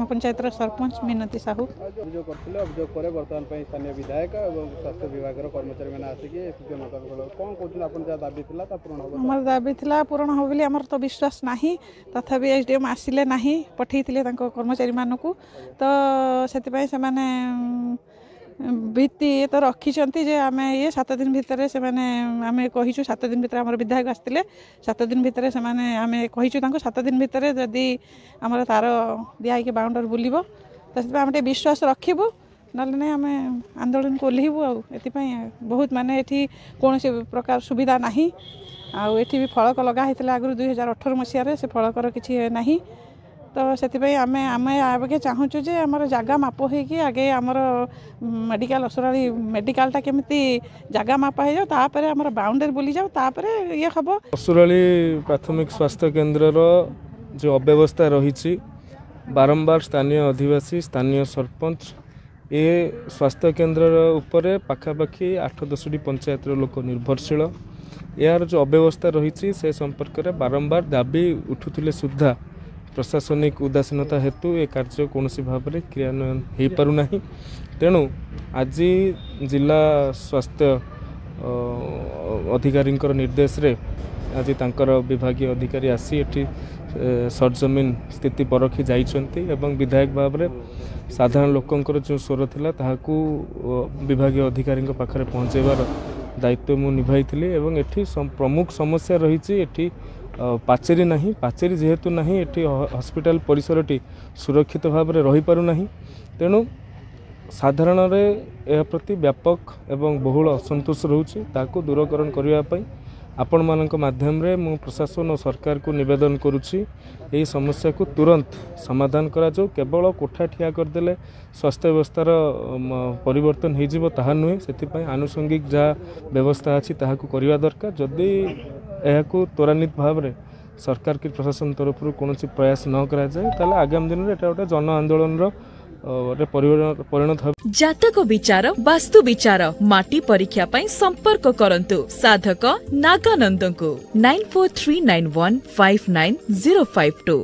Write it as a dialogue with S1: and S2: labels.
S1: ପଞ୍ଚାୟତର ସରପଞ୍ଚ ମିନତୀ ସାହୁ।
S2: ଅଭିଯୋଗ କରିଥିଲେ, ଅଭିଯୋଗ ପରେ ବର୍ତ୍ତମାନ ପାଇଁ ସ୍ଥାନୀୟ ବିଧାୟକ ଏବଂ ସ୍ୱାସ୍ଥ୍ୟ ବିଭାଗର କର୍ମଚାରୀମାନେ ଆସିକି କ'ଣ କହୁଛନ୍ତି? ଆପଣ ଯାହା ଦାବି ଥିଲା ତା ପୂରଣ ହେବ?
S1: ଆମର ଦାବି ଥିଲା ପୂରଣ ହେବ ବୋଲି ଆମର ତ ବିଶ୍ୱାସ ନାହିଁ। ତଥାପି ଏସ୍ ଡି ଏମ୍ ଆସିଲେ ନାହିଁ, ପଠେଇଥିଲେ ତାଙ୍କ କର୍ମଚାରୀମାନଙ୍କୁ। ତ ସେଥିପାଇଁ ସେମାନେ ଭିତ୍ତି ତ ରଖିଛନ୍ତି ଯେ ଆମେ ଇଏ 7 ଦିନ ଭିତରେ ସେମାନେ, ଆମେ କହିଛୁ 7 ଦିନ ଭିତରେ, ଆମର ବିଧାୟକ ଆସିଥିଲେ, 7 ଦିନ ଭିତରେ ସେମାନେ, ଆମେ କହିଛୁ ତାଙ୍କୁ 7 ଦିନ ଭିତରେ ଯଦି ଆମର ତାର ଦିଆ ହେଇକି ବାଉଣ୍ଡରୀ ବୁଲିବ। ତ ସେଥିପାଇଁ ଆମେ ଟିକେ ବିଶ୍ୱାସ ରଖିବୁ, ନହେଲେ ନାହିଁ ଆମେ ଆନ୍ଦୋଳନକୁ ଓହ୍ଲେଇବୁ। ଆଉ ଏଥିପାଇଁ ବହୁତ ମାନେ ଏଠି କୌଣସି ପ୍ରକାର ସୁବିଧା ନାହିଁ। ଆଉ ଏଠି ବି ଫଳକ ଲଗା ହେଇଥିଲା ଆଗରୁ 2018 ମସିହାରେ, ସେ ଫଳକର କିଛି ନାହିଁ। ତ ସେଥିପାଇଁ ଆମେ ଆଗେ ଚାହୁଁଛୁ ଯେ ଆମର ଜାଗା ମାପ ହେଇକି ଆଗେ ଆମର ମେଡ଼ିକାଲ, ଅସୁରାଳି ମେଡ଼ିକାଲଟା କେମିତି ଜାଗା ମାପ ହେଇଯାଉ, ତାପରେ ଆମର ବାଉଣ୍ଡରୀ ବୁଲିଯାଉ, ତାପରେ ଇଏ ହେବ।
S3: ଅସୁରାଳି ପ୍ରାଥମିକ ସ୍ୱାସ୍ଥ୍ୟ କେନ୍ଦ୍ରର ଯେଉଁ ଅବ୍ୟବସ୍ଥା ରହିଛି, ବାରମ୍ବାର ସ୍ଥାନୀୟ ଅଧିବାସୀ, ସ୍ଥାନୀୟ ସରପଞ୍ଚ, ଏ ସ୍ୱାସ୍ଥ୍ୟ କେନ୍ଦ୍ରର ଉପରେ ପାଖାପାଖି 8 10ଟି ପଞ୍ଚାୟତର ଲୋକ ନିର୍ଭରଶୀଳ। ଏହାର ଯେଉଁ ଅବ୍ୟବସ୍ଥା ରହିଛି ସେ ସମ୍ପର୍କରେ ବାରମ୍ବାର ଦାବି ଉଠୁଥିଲେ ସୁଦ୍ଧା ପ୍ରଶାସନିକ ଉଦାସୀନତା ହେତୁ ଏ କାର୍ଯ୍ୟ କୌଣସି ଭାବରେ କ୍ରିୟାନ୍ୱୟନ ହୋଇପାରୁନାହିଁ। ତେଣୁ ଆଜି ଜିଲ୍ଲା ସ୍ୱାସ୍ଥ୍ୟ ଅଧିକାରୀଙ୍କର ନିର୍ଦ୍ଦେଶରେ ଆଜି ତାଙ୍କର ବିଭାଗୀୟ ଅଧିକାରୀ ଆସି ଏଠି ସରଜମିନ ସ୍ଥିତି ପରଖି ଯାଇଛନ୍ତି ଏବଂ ବିଧାୟକ ଭାବରେ ସାଧାରଣ ଲୋକଙ୍କର ଯେଉଁ ସ୍ୱର ଥିଲା ତାହାକୁ ବିଭାଗୀୟ ଅଧିକାରୀଙ୍କ ପାଖରେ ପହଞ୍ଚାଇବାର ଦାୟିତ୍ୱ ମୁଁ ନିଭାଇଥିଲି। ଏବଂ ଏଠି ପ୍ରମୁଖ ସମସ୍ୟା ରହିଛି, ଏଠି ପାଚେରୀ ନାହିଁ। ପାଚେରୀ ଯେହେତୁ ନାହିଁ, ଏଠି ହସ୍ପିଟାଲ ପରିସରଟି ସୁରକ୍ଷିତ ଭାବରେ ରହିପାରୁନାହିଁ। ତେଣୁ ସାଧାରଣରେ ଏହା ପ୍ରତି ବ୍ୟାପକ ଏବଂ ବହୁଳ ଅସନ୍ତୋଷ ରହୁଛି। ତାକୁ ଦୂରକରଣ କରିବା ପାଇଁ ଆପଣମାନଙ୍କ ମାଧ୍ୟମରେ ମୁଁ ପ୍ରଶାସନ ଓ ସରକାରକୁ ନିବେଦନ କରୁଛି, ଏହି ସମସ୍ୟାକୁ ତୁରନ୍ତ ସମାଧାନ କରାଯାଉ। କେବଳ କୋଠା ଠିଆ କରିଦେଲେ ସ୍ୱାସ୍ଥ୍ୟ ବ୍ୟବସ୍ଥାର ପରିବର୍ତ୍ତନ ହେଇଯିବ ତାହା ନୁହେଁ, ସେଥିପାଇଁ ଆନୁଷଙ୍ଗିକ ଯାହା ବ୍ୟବସ୍ଥା ଅଛି ତାହାକୁ କରିବା ଦରକାର। ଯଦି ଏହାକୁ ତ୍ୱରାନ୍ୱିତ ଭାବରେ ସରକାର କି ପ୍ରଶାସନ ତରଫରୁ କୌଣସି ପ୍ରୟାସ ନ କରାଯାଏ, ତାହେଲେ ଆଗାମୀ ଦିନରେ ଏଟା ଗୋଟେ ଜନ ଆନ୍ଦୋଳନର ପରିଣତ ହେବ।
S4: ଜାତକ ବିଚାର, ବାସ୍ତୁ ବିଚାର, ମାଟି ପରୀକ୍ଷା ପାଇଁ ସମ୍ପର୍କ କରନ୍ତୁ ସାଧକ ନାଗାନନ୍ଦଙ୍କୁ 9439159052।